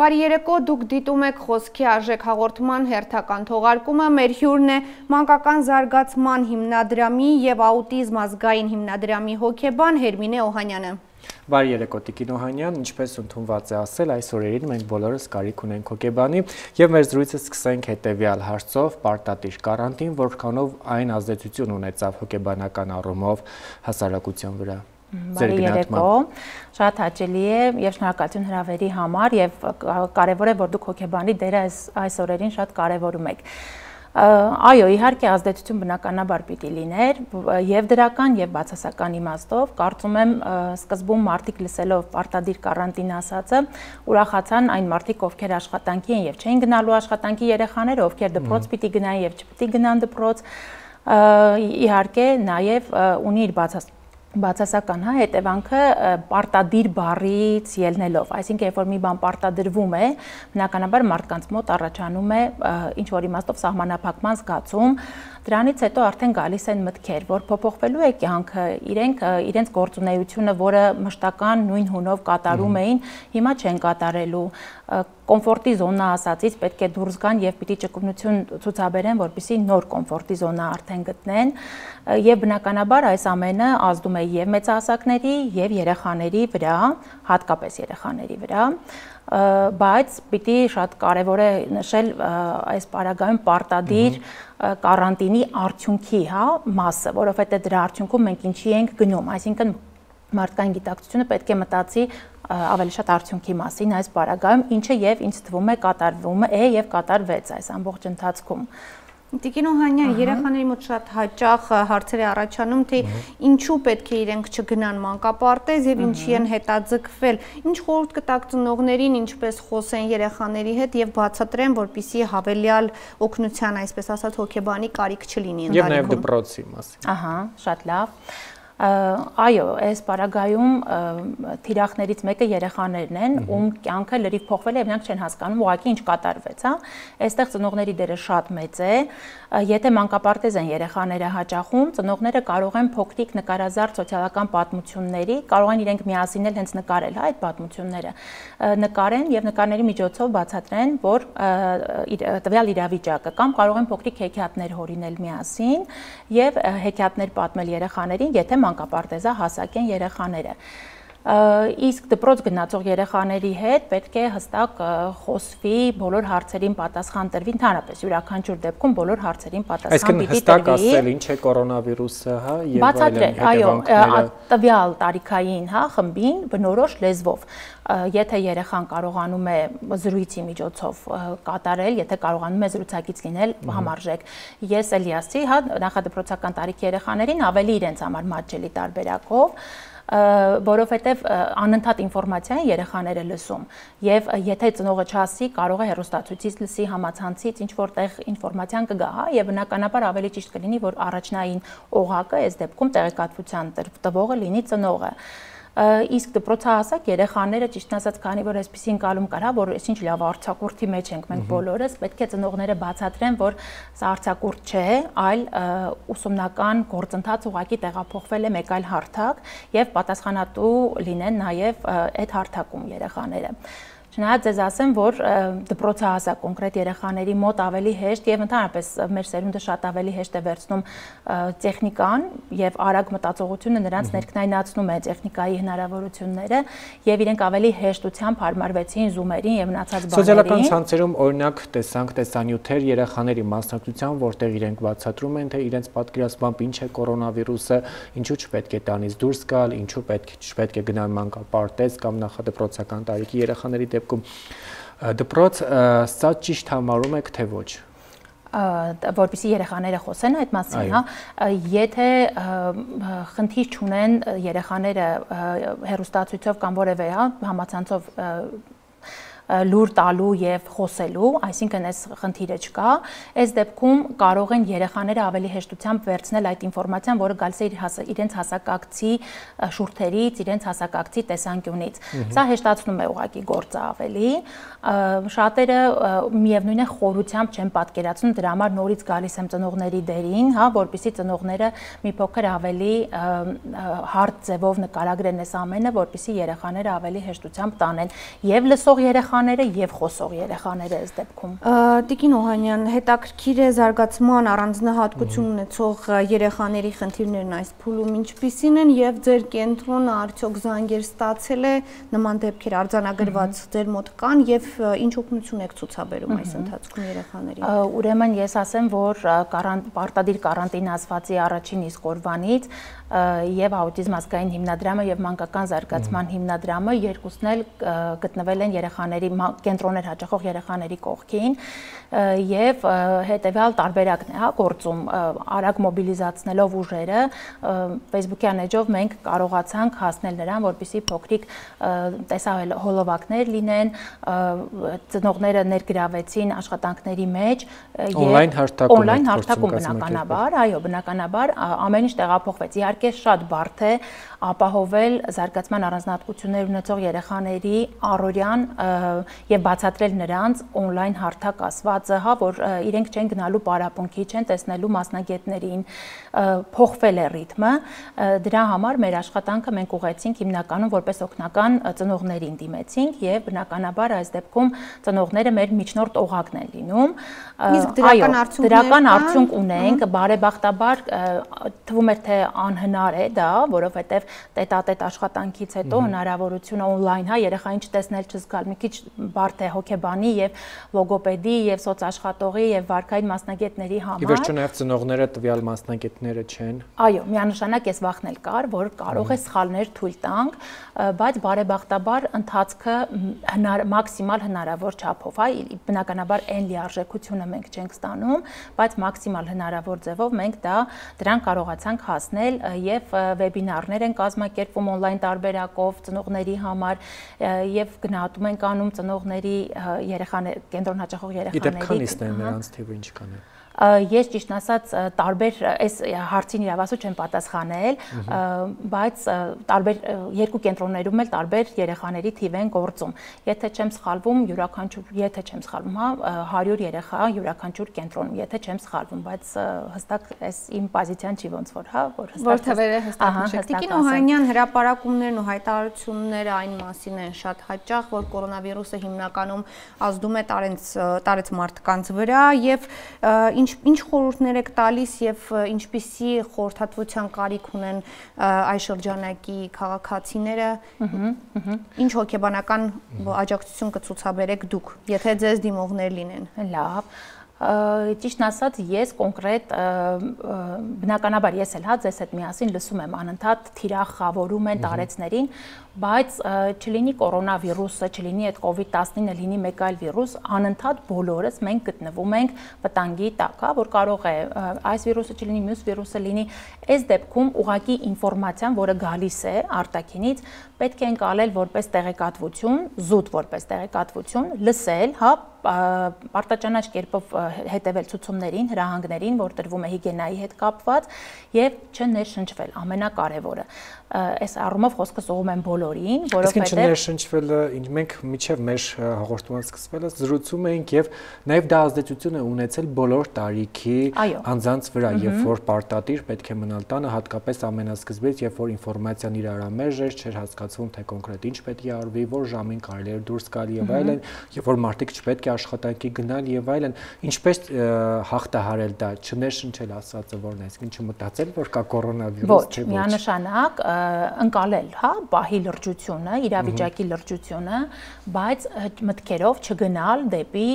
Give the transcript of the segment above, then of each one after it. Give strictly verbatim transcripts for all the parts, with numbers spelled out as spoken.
Բարի երեկո, դուք դիտում եք խոսքի արժեք հաղորդման հերթական թողարկումը, մեր հյուրն է մանկական զարգացման հիմնադրամի և աուտիզմ ազգային հիմնադրամի հոգեբան Հերմինե Օհանյանը։ Բարի երեկո Տիկին Օհանյան, ինչպես ընդունված է ասել, այս օրերին մենք բոլորս կարիք ունենք հոգեբանի և մեր զրույցը սկսենք հետևյալ հարցով՝ պարտադիր կարանտին, որքանով այն ազդեցություն ունեցավ հոգեբանական առումով հասարակության վրա։ Բարի երեկո, շատ հաճելի է և շնորհակալություն հրավերի համար և կարևոր է, որ դուք հոգեբանի դերը այս օրերին շատ կարևորում եք։ Այո, իհարկե ազդեցություն բնականաբար պիտի լիներ և դրական և բացասական իմաստով, կարծում եմ սկզբում մարդիկ լսելով պարտադիր կարանտին ասածը, ուրախացան այն մարդիկ, ովքեր աշխատանքի են և չէին գնալու աշխատանքի երեխաները, ովքեր դպրոց պիտի գնային և չպիտի գնան դպրոց, իհարկե նաև ունի իր բացասական Բացասական հա, հետևանքը պարտադիր բառից ելնելով, այսինքն երբ որ մի բան պարտադրվում է, բնականաբար մարդկանց մոտ առաջանում է ինչ-որ իմաստով սահմանափակման զգացում, դրանից հետո արդեն գալիս են մտքեր, որ փոփոխվելու է կյանքը, իրենք իրենց գործունեությունը, որը մշտական նույն հունով կատարում էին, հիմա չեն կատարելու, կոմֆորտի զոնա ասածից պետք է դուրս գան և պիտի ճկունություն ցուցաբերեն, որպեսզի նոր կոմֆորտի զոնա արդեն գտնեն և բնականաբար այս ամենը ազդում է և մեծահասակների և երեխաների վրա, հատկապես երեխաների վրա, բայց պիտի շատ կարևոր է նշել այս պարագայում պարտադիր կարանտինի արդյունքի մասը, որովհետև դրա արդյունքում մենք ինչի ենք գնում, այսինքն մարդկային գիտակցությունը պետք է մտածի ավելի շատ արդյունքի մասին այս պարագայում, ինչը և ինձ թվում է կատարվում է և կատարվեց այս ամբողջ ընթացքում։ Տիկին Օհանյան, երեխաների մոտ շատ հաճախ հարցեր է առաջանում, թե ինչու պետք է իրենք չգնան մանկապարտեզ և ինչի են հետաձգվել, ինչ խորհուրդ կտաք ծնողներին, ինչպես խոսեն երեխաների հետ և բացատրեն, որպեսզի հավելյալ օգնության, այսպես ասած, հոգեբանի կարիք չլինի ընտանիքում։ Եվ նաև դպրոցի մասին։ Ահա, շատ լավ։ Այո, այս պարագայում թիրախներից մեկը երեխաներն են, ում կյանքը լրիվ փոխվել է և նրանք չեն հասկանում ուղղակի ինչ կատարվեց, հա։ Այստեղ ծնողների դերը շատ մեծ է, եթե մանկապարտեզ են երեխաները հաճախում, ծնողները կարող են փոքրիկ նկարազարդ սոցիալական պատմությունների, կարող են իրենք միասին էլ հենց նկարել, հա, այդ պատմությունները, նկարեն և նկարների միջոցով բացատրեն, որ տվյալ իրավիճակը, կամ կարող են փոքրիկ հեքիաթներ հորինել միասին և հեքիաթներ պատմել երեխաներին, եթե մանկապարտեզա հասակ են երեխաները։ Իսկ դպրոց գնացող երեխաների հետ պետք է հստակ խոսվի, բոլոր հարցերին պատասխան տրվի, ընդհանրապես յուրաքանչյուր դեպքում բոլոր հարցերին պատասխան պիտի տրվի։ Այսինքն հստակ ասել ինչ է կորոնավիրուսը, հա, եւ այլն հետևանքները։ Այո, տվյալ տարիքային, հա, խմբին բնորոշ լեզվով։ Եթե երեխան կարողանում է զրույցի միջոցով կատարել, եթե կարողանում է զրուցակից լինել, համարժեք։ Ես էլի ասի, հա, նախադպրոցական տարիքի երեխաներին ավելի իրենց համար մատչելի տարբերակով, որովհետև անընդհատ ինֆորմացիա են երեխաները լսում և եթե ծնողը չասի, կարող է հեռուստացույցից լսի, համացանցից ինչ-որտեղ ինֆորմացիան կգա, հա, և բնականաբար ավելի ճիշտ կլինի, որ առաջնային օղակը այս դեպքում տեղեկատվության տվողը լինի ծնողը։ Իսկ դպրոցահասակ երեխաները, ճիշտն ասած, քանի որ այսպիսի ընկալում կար, որ այսինչ լավ արձակուրդի մեջ ենք մենք բոլորս, պետք է ծնողները բացատրեն, որ սա արձակուրդ չէ, այլ ուսումնական գործընթաց ուղղակի տեղափոխվել է մեկ այլ հարթակ և պատասխանատու լինեն նաև այդ հարթակում երեխաները։ Չնայած ձեզ ասեմ, որ դպրոցահասակ կոնկրետ երեխաների մոտ ավելի հեշտ և ընդհանրապես մեր սերունդը շատ ավելի հեշտ է վերցնում տեխնիկան և արագ մտածողությունը նրանց ներքնայնացնում է տեխնիկայի հնարավորությունները և իրենք ավելի հեշտությամբ հարմարվեցին զումերին և մնացած բաներին։ Սոցիալական ցանցերում օրինակ տեսանք տեսանյութեր երեխաների մասնակցությամբ, որտեղ իրենք բացատրում են, թե իրենց պատկերացմամբ ինչ է կորոնավիրուսը, ինչու չպետք է տանից դուրս գալ, ինչու պետք չպետք է գնալ մանկապարտեզ կամ նախադպրոցական տարիքի երեխաների դեպքում դպրոց, սա ճիշտ համարում եք, թե ոչ։ Որպեսզի երեխաները խոսեն այդ մասին, հա, եթե խնդիր չունեն երեխաները հեռուստացույցով կամ որևէ, հա, համացանցով լուր տալու և խոսելու, այսինքն այս խնդիրը չկա, այս դեպքում կարող են երեխաները ավելի հեշտությամբ վերցնել այդ ինֆորմացիան, որը գալիս է իրենց հասակակցի շուրթերից, իրենց հասակակցի տեսանկյունից։ Սա հեշտացնում է ուղղակի գործը ավելի, շատերը միևնույն է խորությամբ չեն պատկերացնում, դրա համար նորից գալիս եմ ծնողների դերին, հա, որպեսզի ծնողները մի փոքր ավելի հարթ ձևով նկարագրեն այս ամենը, որպեսզի երեխաները ավելի հեշտությամբ տանեն, և լսող երեխա երեխաները եւ խոսող երեխաները այս դեպքում։ Տիկին Օհանյան, հետաքրքիր է զարգացման առանձնահատկություն ունեցող երեխաների խնդիրներն այս փուլում ինչպիսին են եւ ձեր կենտրոնը արդյոք զանգեր ստացել է նման դեպքեր արձանագրված ձեր մոտ կան եւ ինչ օգնություն եք ցուցաբերում այս ընթացքում երեխաներին։ Ուրեմն ես ասեմ, որ պարտադիր կարանտինացվածի առաջին իսկ օրվանից եւ աուտիզմ ազգային հիմնադրամը եւ մանկական զարգացման հիմնադրամը երկուսն էլ գտնվել են երեխաների կենտրոններ հաճախող երեխաների կողքին եւ հետեւյալ տարբերակն է, հա, գործում արագ մոբիլիզացնելով ուժերը Facebook-յան էջով մենք կարողացանք հասնել նրան, որպեսզի փոքրիկ տեսահոլովակներ լինեն, ծնողները ներգրավեցին աշխատանքների մեջ եւ օնլայն հարթակում բնականաբար, այո, բնականաբար ամեն ինչ տեղափոխվեց։ Իհարկե շատ բարդ է ապահովել զարգացման առանձնահատկություններ ունեցող երեխաների առօրյան եւ բացատրել նրանց օնլայն հարթակ ասվածը, հա, որ իրենք չեն գնալու պարապմունքի, չեն տեսնելու մասնագետներին, փոխվել է ռիթմը։ Դրա համար մեր աշխատանքը մենք ուղղեցինք հիմնականում որպես օգնական ծնողներին դիմեցինք եւ բնականաբար այս դեպքում ծնողները մեր միջնորդ օղակն են լինում։ Իսկ դրական արդյունքներ դրական արդյունք ունենք, բարեբախտաբար թվում է թե անհնար է դա, որովհետեւ տետատետ աշխատանքից հետո հնարավորությունը օնլայն, հա, երեխային չտեսնել, չզգալ, մի քիչ բարդ է հոգեբանի եւ լոգոպեդի եւ սոցաշխատողի եւ վարքային մասնագետների համար։ Ի վերջո նաեւ ծնողները տվյալ մասնագետները չեն։ Այո, միանշանակ էս վախն էլ կար, որ կարող է սխալներ թույլ տանք, բայց բարեբախտաբար ընթացքը մաքսիմալ հնարավոր չափով, հա, բնականաբար այն լիարժեքությունը մենք չենք ստանում, բայց մաքսիմալ հնարավոր ձևով մենք դա դրան կարողացանք հասնել եւ վեբինարներ են կազմակերպվում օնլայն տարբերակով ծնողների համար եւ գնահատում ենք անում ծնողների երեխաներ կենտրոն հաճախող երեխաների։ Գիտեք քանիսն են նրանց թիվը ինչ կան։ Ես ճիշտ ասած տարբեր այս հարցին իրավասու չեմ պատասխանել, բայց տարբեր երկու կենտրոններում էլ տարբեր երեխաների թիվ են գործում։ Եթե չեմ սխալվում, յուրաքանչյուր, եթե չեմ սխալվում, հա, հարյուր երեխա յուրաքանչյուր կենտրոնում, եթե չեմ սխալվում, բայց հստակ այս իմ պոզիցիան չի ոնց որ, հա, որ հստակ։ Որ թվերը հստակ նշեք։ Տիկին Օհանյան, հրապարակումներն ու հայտարարությունները այն մասին են շատ հաճախ, որ կորոնավիրուսը հիմնականում ազդում է տարեց տարեց մարդկանց վրա եւ ինչ ինչ խորհուրդներ եք տալիս եւ ինչպիսի խորհրդատվության կարիք ունեն այս շրջանակի քաղաքացիները, ինչ հոգեբանական աջակցություն կցուցաբերեք դուք, եթե ձեզ դիմողներ լինեն։ Լավ, ճիշտն ասած ես կոնկրետ բնականաբար ես էլ հա ձեզ հետ միասին լսում եմ անընդհատ թիրախավորում են տարեցներին, բայց չլինի կորոնավիրուսը, չլինի այդ կովիդ տասնինը, լինի մեկ այլ վիրուս, անընդհատ բոլորս մենք գտնվում ենք վտանգի տակ, հա, որ կարող է այս վիրուսը չլինի, մյուս վիրուսը լինի, այս դեպքում ուղղակի ինֆորմացիան, որը գալիս է արտաքինից, պետք է ընկալել որպես տեղեկատվություն, զուտ որպես տեղեկատվություն, լսել, հա, պարտաճանաչ կերպով հետևել ցուցումներին, հրահանգներին, որ տրվում է հիգիենայի հետ կապված եւ չներշնչվել, ամենակարևորը։ Այս առումով խոսքս ուղղում եմ բոլորին, որովհետեւ Իսկ չներշնչվելը մենք միջև մեր հաղորդման սկսվելը զրուցում էինք եւ նաեւ դա ազդեցություն է ունեցել բոլոր տարիքի անձանց վրա, երբ որ պարտադիր պետք է մնալ տանը, հատկապես ամենասկզբից, երբ որ ինֆորմացիան իրարամերժ էր, չէր հասկացվում թե կոնկրետ ինչ պետք է արվի, որ ժամին կարելի է դուրս գալ եւ այլն, երբ որ մարդիկ չպետք է աշխատանքի գնալ եւ այլն, ինչպես հաղթահարել դա, չներշնչել ասածը որն է, այսինքն չմտածել, որ կա կորոնավիրուս, թե ոչ։ Ոչ, միանշանակ ընկալել, հա, պահի լրջությունը, իրավիճակի լրջությունը, բայց մտքերով չգնալ դեպի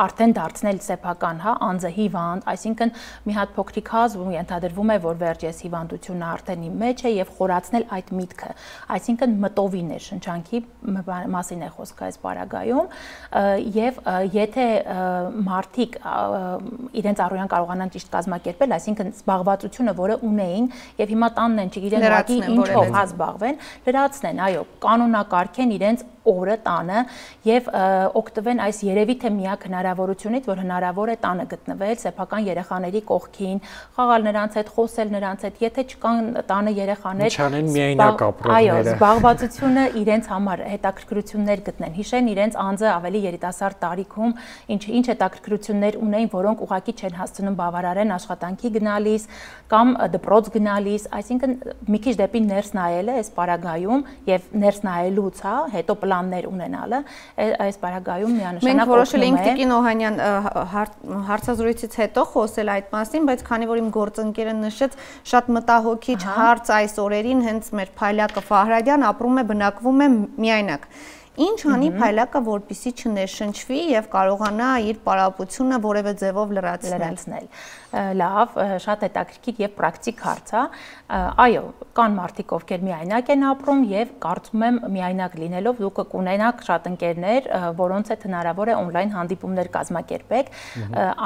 արդեն դարձնել սեփական, հա, անձը հիվանդ, այսինքն մի հատ փոքրիկ հազվում ենթադրվում է, որ վերջ ես հիվանդությունը արդեն իմ մեջ է եւ խորացնել այդ միտքը, այսինքն մտովի ներշնչանքի մասին է խոսքը այս պարագայում եւ եթե մարդիկ իրենց առօրյան կարողանան ճիշտ կազմակերպել, այսինքն զբաղվածությունը, որը ունեին եւ հիմա տանն են չգիտեն ուղղակի ինչով հա զբաղվեն, լրացնեն, այո, կանոնակարգեն իրենց օրը տանը եւ օգտվեն այս երևի թե միակ հնարավորությունից, որ հնարավոր է տանը գտնվել սեփական երեխաների կողքին, խաղալ նրանց հետ, խոսել նրանց հետ, եթե չկան տանը երեխաներ, չանեն միայնակ ապրողները։ Այո, զբաղվածությունը իրենց համար հետաքրքրություններ գտնեն, հիշեն իրենց անձը ավելի երիտասարդ տարիքում ինչ ինչ հետաքրքրություններ ունեին, որոնք ուղղակի չեն հասցնում բավարարեն աշխատանքի գնալիս կամ դպրոց գնալիս, այսինքն մի քիչ դեպի ներս նայելը այս պարագայում եւ ներս նայելուց, հա, հետո պլաններ ունենալը այս բարագայում միանշանակ մենք որոշել ենք Տիկին Օհանյան հարցազրույցից հետո խոսել այդ մասին, բայց քանի որ իմ գործընկերը նշեց, շատ մտահոգիչ հարց այս օրերին հենց մեր Փայլակը Ֆահրադյան ապրում է, բնակվում է միայնակ։ Ինչ անի Փայլակը, որպեսզի չներշնչվի եւ կարողանա իր պարապությունը որևէ ձևով լրացնել։ Լավ, շատ հետաքրքիր եւ պրակտիկ հարց է։ Այո, կան մարդիկ, ովքեր միայնակ են ապրում եւ կարծում եմ միայնակ լինելով դուք կունենաք շատ ընկերներ, որոնց հետ հնարավոր է on-line հանդիպումներ կազմակերպեք։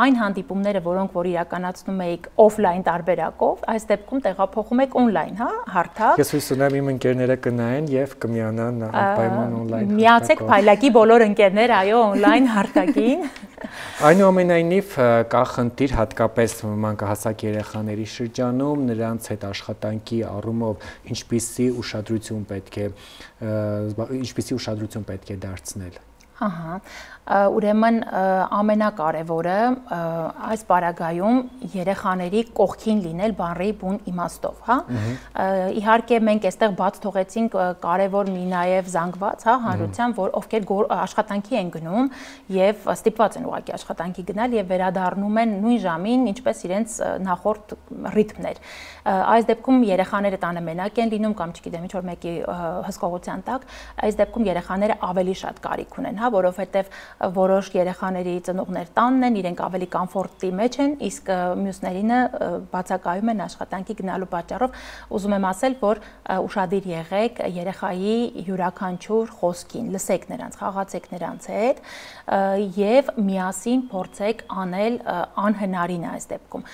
Այն հանդիպումները, որոնք որ իրականացնում եք օֆլայն տարբերակով, այս դեպքում տեղափոխում եք on-line, հա, հարթակ։ Ես հույս ունեմ իմ ընկերները կնայեն եւ կմիանան անպայման on-line։ Միացեք Փայլակի բոլոր ընկերներ, այո, on-line հարթակին։ Այնուամենայնիվ կա խնդիր հատկապես մանկահասակ երեխաների շրջանում, նրանց հետ աշխատանքի առումով ինչպիսի ուշադրություն պետք է ինչպիսի ուշադրություն պետք է դարձնել։ Ահա, ուրեմն ամենակարևորը այս պարագայում երեխաների կողքին լինել բառի բուն իմաստով, հա։ Իհարկե մենք այստեղ բաց թողեցինք կարևոր մի նաև զանգված, հա, հանրության, որ ովքեր աշխատանքի են գնում եւ ստիպված են ուղղակի աշխատանքի գնալ եւ վերադառնում են նույն ժամին, ինչպես իրենց նախորդ ռիթմներ։ Այս դեպքում երեխաները տանը մենակ են լինում կամ չգիտեմ ինչ որ մեկի հսկողության տակ, այս դեպքում երեխաները ավելի շատ կարիք ունեն, հա, որովհետեւ որոշ երեխաների ծնողներ տանն են, իրենք ավելի կոմֆորտի մեջ են, իսկ մյուսներինը բացակայում են աշխատանքի գնալու պատճառով։ Ուզում եմ ասել, որ ուշադիր եղեք երեխայի յուրաքանչյուր խոսքին, լսեք նրանց, խաղացեք նրանց հետ եւ միասին փորձեք անել անհնարինը այս դեպքում։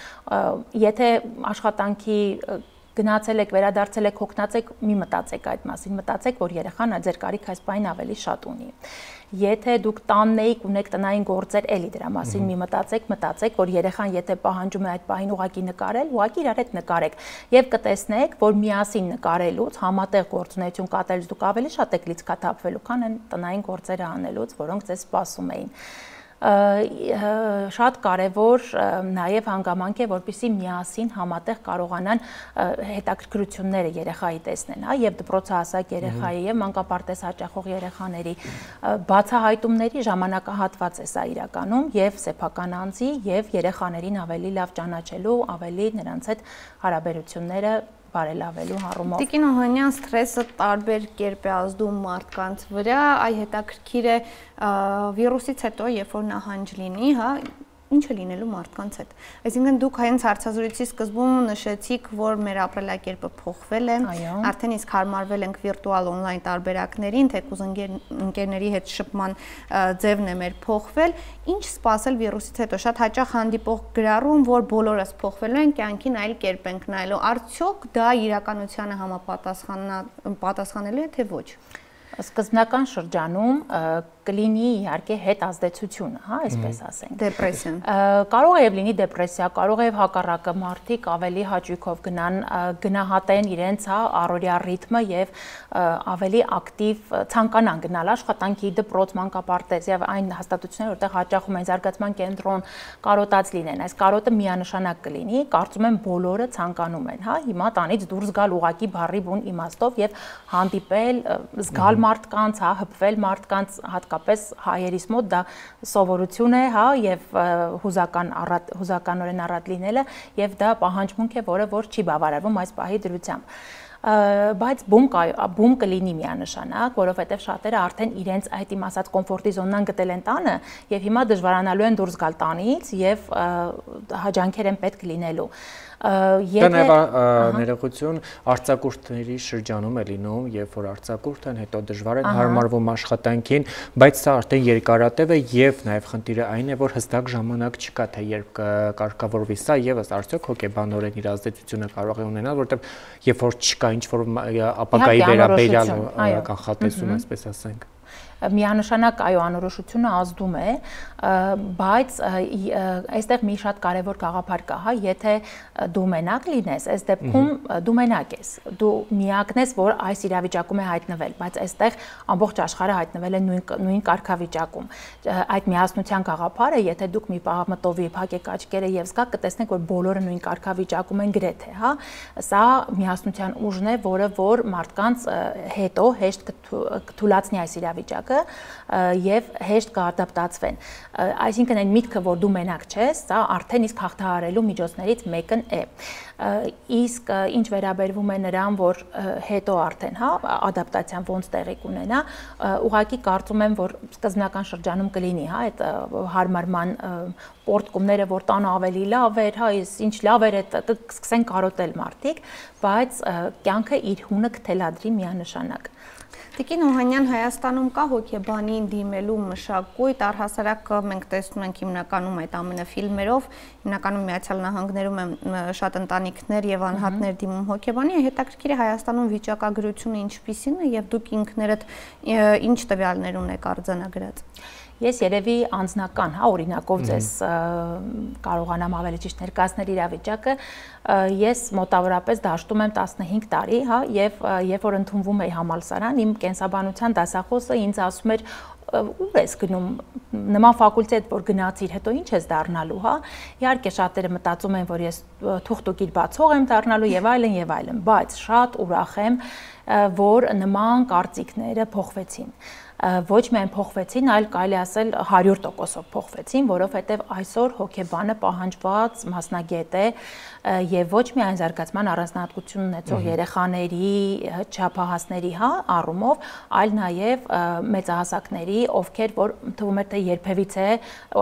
Եթե աշխատանքի գնացել եք, վերադարձել եք, հոգնած եք, մի մտածեք այդ մասին, մտածեք, որ երեխան ձեր կարիք այս բանին ավելի շատ ունի։ Եթե դուք տանն եք, ունեք տնային գործեր, էլի դրա մասին մի մտածեք, մտածեք, որ երեխան եթե պահանջում է այդ պահին ուղակի նկարել, ուղակի իրար հետ նկարեք եւ կտեսնեք, որ միասին նկարելուց, համատեղ գործունեություն կատարելուց դուք ավելի շատ եք լիցքաթափվելու, քան այն տնային գործերը անելուց, որոնք ձեզ սպասում էին։ Շատ կարևոր նաև հանգամանք է, որպեսզի միասին համատեղ կարողանան հետաքրքրությունները երեխայի տեսնեն, հա, եւ դպրոցահասակ երեխայի եւ մանկապարտեզ հաճախող երեխաների բացահայտումների ժամանակահատված է սա իրականում եւ սեփական անձի եւ երեխաներին ավելի լավ ճանաչելու, ավելի նրանց հետ հարաբերությունները բարելավելու առումով։ Տիկին Օհանյան, սթրեսը տարբեր կերպ է ազդում մարդկանց վրա, այ հետաքրքիր է վիրուսից հետո, երբ որ նահանջ լինի, հա, ինչը լինելու մարդկանց հետ։ Այսինքն դուք հենց հարցազրույցի սկզբում նշեցիք, որ մեր ապրելակերպը փոխվել է, արդեն իսկ հարմարվել ենք վիրտուալ on-line տարբերակներին, թեկուզ ընկերների հետ շփման ձևն է մեր փոխվել։ Ինչ սպասել վիրուսից հետո։ Շատ հաճախ հանդիպող գրառում, որ բոլորս փոխվելու են, կյանքին այլ կերպ ենք նայելու։ Արդյոք դա իրականությանը համապատասխանելու է, թե ոչ։ Սկզբնական շրջանում կլինի իհարկե հետ ազդեցությունը, հա, այսպես ասենք։ Դեպրեսիան։ Կարող է եւ լինի դեպրեսիա, կարող է եւ հակառակը մարդիկ ավելի հաճույքով գնան, գնահատեն իրենց, հա, առօրյա ռիթմը եւ ավելի ակտիվ ցանկանան գնալ աշխատանքի, դպրոց, մանկապարտեզ եւ այն հաստատություններ, որտեղ հաճախում են զարգացման կենտրոն, կարոտած լինեն։ Այս կարոտը միանշանակ կլինի, կարծում եմ բոլորը ցանկանում են, հա, հիմա տանից դուրս գալ ուղակի բառի բուն իմաստով եւ հանդիպել, զգալ մարդկանց, հա, հպվել մարդկանց, հատկապես հայերիս մոտ դա սովորություն է, հա, եւ հուզական առատ հուզականորեն առատ լինելը եւ դա պահանջմունք է, որը որ չի բավարարվում այս պահի դրությամբ։ Բայց բում բում կլինի միանշանակ, որովհետև շատերը արդեն իրենց այդ իմ ասած կոմֆորտի զոնան գտել են տանը եւ հիմա դժվարանալու են դուրս գալ տանից եւ հաջանքեր են պետք լինելու։ Դա նաև ներողություն արձակուրդների շրջանում է լինում, երբ որ արձակուրդ են, հետո դժվար են հարմարվում աշխատանքին, բայց սա արդեն երկարատև է եւ նաև խնդիրը այն է, որ հստակ ժամանակ չկա, թե երբ կարգավորվի սա եւս արդյոք հոգեբանորեն իր ազդեցությունը կարող է ունենալ, որտեղ երբ որ չկա ինչ որ ապագայի վերաբերյալ կանխատեսում, այսպես ասենք։ Միանշանակ այո անորոշությունը ազդում է, բայց այստեղ մի շատ կարևոր գաղափար կա, հա, եթե դու մենակ լինես, այս դեպքում դու մենակ ես, դու միակն ես, որ այս իրավիճակում է հայտնվել, բայց այստեղ ամբողջ աշխարհը հայտնվել է նույն նույն կարգավիճակում։ Այդ միասնության գաղափարը, եթե դուք մի պահ մտովի փակեք աչքերը եւ զգաք, կտեսնեք, որ բոլորը նույն կարգավիճակում են գրեթե, հա։ Սա միասնության ուժն է, որը որ մարդկանց հետո հեշտ կթույլատնի այս իրավիճակը եւ հեշտ կադապտացվեն։ Այսինքն այն միտքը, որ դու մենակ չես, սա արդեն իսկ հաղթահարելու միջոցներից մեկն է։ Իսկ ինչ վերաբերվում է նրան, որ հետո արդեն, հա, ադապտացիան ոնց տեղի կունենա, ուղղակի կարծում եմ, որ սկզբնական շրջանում կլինի, հա, այդ հարմարման պորտկումները, որ տանը ավելի լավ էր, հա, ինչ լավ էր, կսկսեն կարոտել մարդիկ, բայց կյանքը իր հունը կթելադրի միանշանակ։ Տիկին Օհանյան, Հայաստանում կա հոգեբանին դիմելու մշակույթ, առհասարակ մենք տեսնում ենք հիմնականում այդ ամենը ֆիլմերով, հիմնականում Միացյալ Նահանգներում են շատ ընտանիքներ եւ անհատներ դիմում հոգեբանի, հետաքրքիր է Հայաստանում վիճակագրությունը ինչպիսին է եւ դուք ինքներդ ինչ տվյալներ ունեք արձանագրած։ Ես երևի անձնական, հա, օրինակով ձեզ կարողանամ ավելի ճիշտ ներկայացնել իրավիճակը, ես մոտավորապես դաշտում եմ տասնհինգ տարի, հա, եւ երբ որ ընդունվում էի համալսարան, իմ կենսաբանության դասախոսը ինձ ասում էր ուր ես գնում, նման ֆակուլտետ որ գնացիր, հետո ինչ ես դառնալու, հա։ Իհարկե շատերը մտածում են, որ ես թուղթուկիր բացող եմ դառնալու եւ այլն եւ այլն, բայց շատ ուրախ եմ, որ նման կարծիքները փոխվեցին։ Ոչ միայն փոխվեցին, այլ կարելի ասել հարյուր տոկոսով փոխվեցին, որովհետև այսօր հոգեբանը պահանջված մասնագետ է եւ ոչ միայն զարգացման առանձնահատկություն ունեցող երեխաների, չափահասների, հա, առումով, այլ նաեւ մեծահասակների, ովքեր որ թվում է թե երբևիցե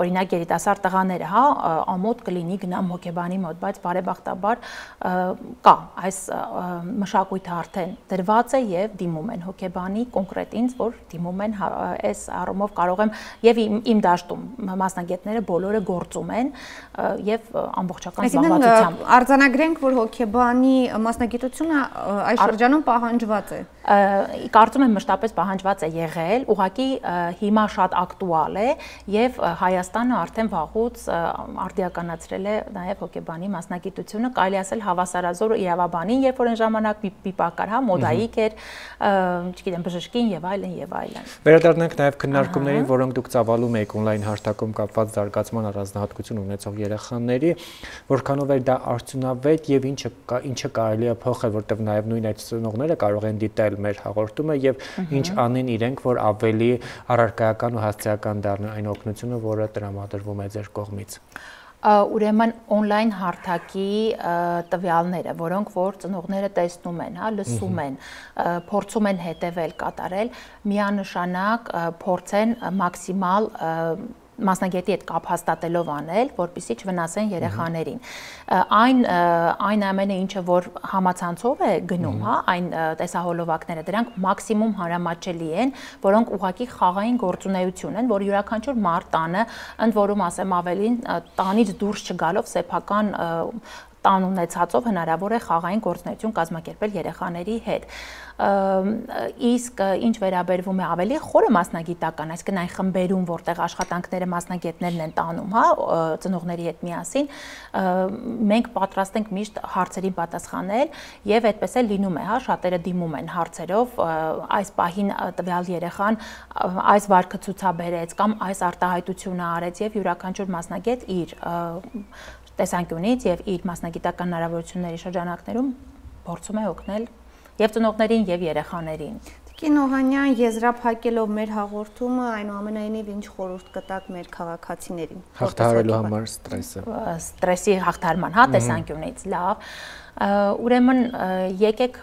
օրինակ երիտասարդ տղաները, հա, ամոթ կլինի գնամ հոգեբանի մոտ, բայց բարեբախտաբար կա այս մշակույթը արդեն դրված է եւ դիմում են հոգեբանի կոնկրետ ինձ, որ դիմում են այս առումով կարող եմ եւ իմ, իմ դաշտում մասնագետները բոլորը գործում են եւ ամբողջական զբաղվածությամբ արձանագրենք, որ հոգեբանի մասնագիտությունը այս շրջանում պահանջված է։ Կարծում եմ մշտապես պահանջված է եղել, ուղղակի հիմա շատ ակտուալ է եւ Հայաստանը արդեն վաղուց արդիականացրել է նաեւ հոգեբանի մասնագիտությունը, կարելի ասել հավասարազոր իրավաբանին, երբ որ այն ժամանակ մի պակար, հա, մոդայիկ էր, չգիտեմ, բժշկին եւ այլն եւ այլն։ Վերադառնանք նաև քննարկումներին, որոնք դուք ծավալում եք օնլայն հարթակում կապված զարգացման առանձնահատկություն ունեցող երեխաների, որքանով է դա արդյունավետ եւ ինչը ինչը կարելի է փոխել, որտեղ նաև նույն այդ ծնողները կարող են դիտել մեր հաղորդումը եւ ինչ անեն իրենք, որ ավելի առարկայական ու հասցեական դառնա այն օգնությունը, որը տրամադրվում է ձեր կողմից։ Ուրեմն օնլայն հարթակի տվյալները, որոնք որ ծնողները տեսնում են, հա, լսում են, փորձում են հետևել, կատարել, միանշանակ փորձեն մաքսիմալ մասնագետի հետ կապ հաստատելով անել, որպեսզի չվնասեն երեխաներին։ Այն այն ամենը, ինչը որ համացանցով է գնում, հա, այն տեսահոլովակները, դրանք մաքսիմում հանրամատչելի են, որոնք ուղղակի խաղային գործունեություն են, որ յուրաքանչյուր մարդ տանը, ընդ որում ասեմ ավելին, տանից դուրս չգալով սեփական տան ունեցածով հնարավոր է խաղային գործունեություն կազմակերպել երեխաների հետ։ Իսկ ինչ վերաբերվում է ավելի խորը մասնագիտական, այսինքն այն խմբերում, որտեղ աշխատանքները մասնագետներն են տանում, հա, ծնողների հետ միասին, մենք պատրաստ ենք միշտ հարցերին պատասխանել եւ այդպես էլ լինում է, հա, շատերը դիմում են հարցերով, այս պահին տվյալ երեխան այս վարքը ցուցաբերեց կամ այս արտահայտությունը արեց եւ յուրաքանչյուր մասնագետ իր տեսանկյունից եւ իր մասնագիտական հնարավորությունների շրջանակներում փորձում է օգնել եւ ծնողներին եւ երեխաներին։ Տիկին Օհանյան, եզրափակելով մեր հաղորդումը, այնուամենայնիվ ինչ խորհուրդ կտաք մեր քաղաքացիներին հաղթահարելու համար ստրեսը։ Ստրեսի հաղթահարման, հա, տեսանկյունից, լավ։ Ուրեմն եկեք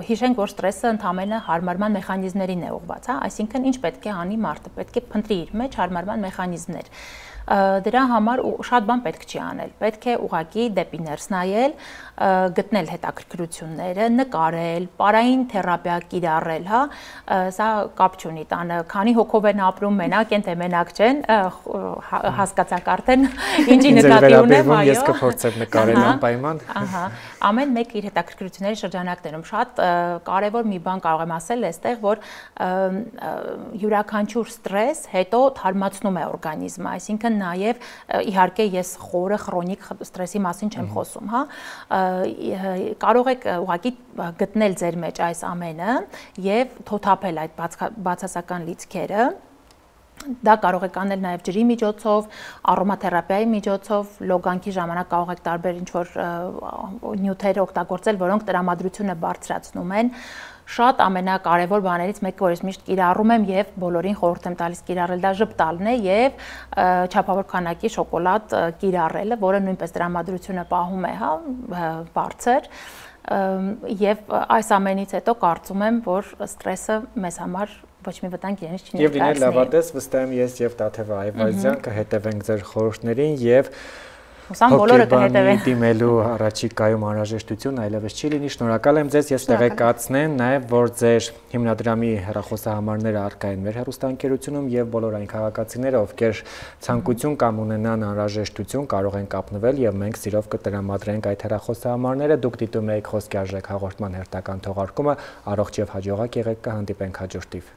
հիշենք, որ ստրեսը ընդհանրապես հարմարման մեխանիզմներին է ուղղված, հա, այսինքն ինչ պետք է անի մարդը, պետք է փնտրի իր մեջ հարմարման մեխանիզմներ։ Դրա համար շատ բան պետք չի անել։ Պետք է ուղղակի դեպի ներս նայել, գտնել հետաքրքրությունները, նկարել, պարային թերապիա կիրառել, հա, սա կապ չունի տանը, քանի հոգով են ապրում, մենակ են թե մենակ չեն, հասկացաք արդեն ինչի նկատի ունեմ, այո։ Ես կփորձեմ նկարել անպայման։ Ահա, ամեն մեկ իր հետաքրքրությունների շրջանակներում շատ կարևոր մի բան կարող եմ ասել այստեղ, որ յուրաքանչյուր ստրես հետո թարմացնում է օրգանիզմը, այսինքն նաև իհարկե ես խորը քրոնիկ ստրեսի մասին չեմ խոսում, հա, կարող եք ուղղակի գտնել ձեր մեջ այս ամենը եւ թոթափել այդ բացասական լիցքերը։ Դա կարող եք անել նաև ջրի միջոցով, արոմաթերապիայի միջոցով, լոգանքի ժամանակ կարող եք տարբեր ինչ-որ նյութեր օգտագործել, որոնք տրամադրությունը բարձրացնում են։ Շատ ամենակարևոր բաներից մեկը, որ ես միշտ կիրառում եմ եւ բոլորին խորհուրդ եմ տալիս կիրառել, դա ժպտալն է եւ չափավոր քանակի շոկոլադ կիրառելը, որը նույնպես տրամադրությունը պահում է, հա, բարձր։ Եվ այս ամենից հետո կարծում եմ, որ ստրեսը մեզ համար ոչ մի վտանգ իրենից չի ներկայացնի։ Եվ լինել լավատես, վստահ եմ ես եւ Տաթևա Այվազյան կհետևենք ձեր խորհուրդներին եւ Հուսամ բոլորը կհետևեն։ Դիմելու առաջիկայում անհրաժեշտություն այլևս չի լինի։ Շնորհակալ եմ ձեզ, ես տեղեկացնեմ նաև, որ ձեր հիմնադրամի հեռախոսահամարները առկա են մեր հեռուստաընկերությունում եւ բոլոր այն քաղաքացիները, ովքեր ցանկություն կամ ունենան անհրաժեշտություն, կարող են կապնվել եւ մենք սիրով կտրամադրենք այդ հեռախոսահամարները։ Դուք դիտում եք Խոսքի արժեք հաղորդման հերթական թողարկումը, առողջ եւ հաջողակ եղեք, կհանդիպենք հաջորդիվ։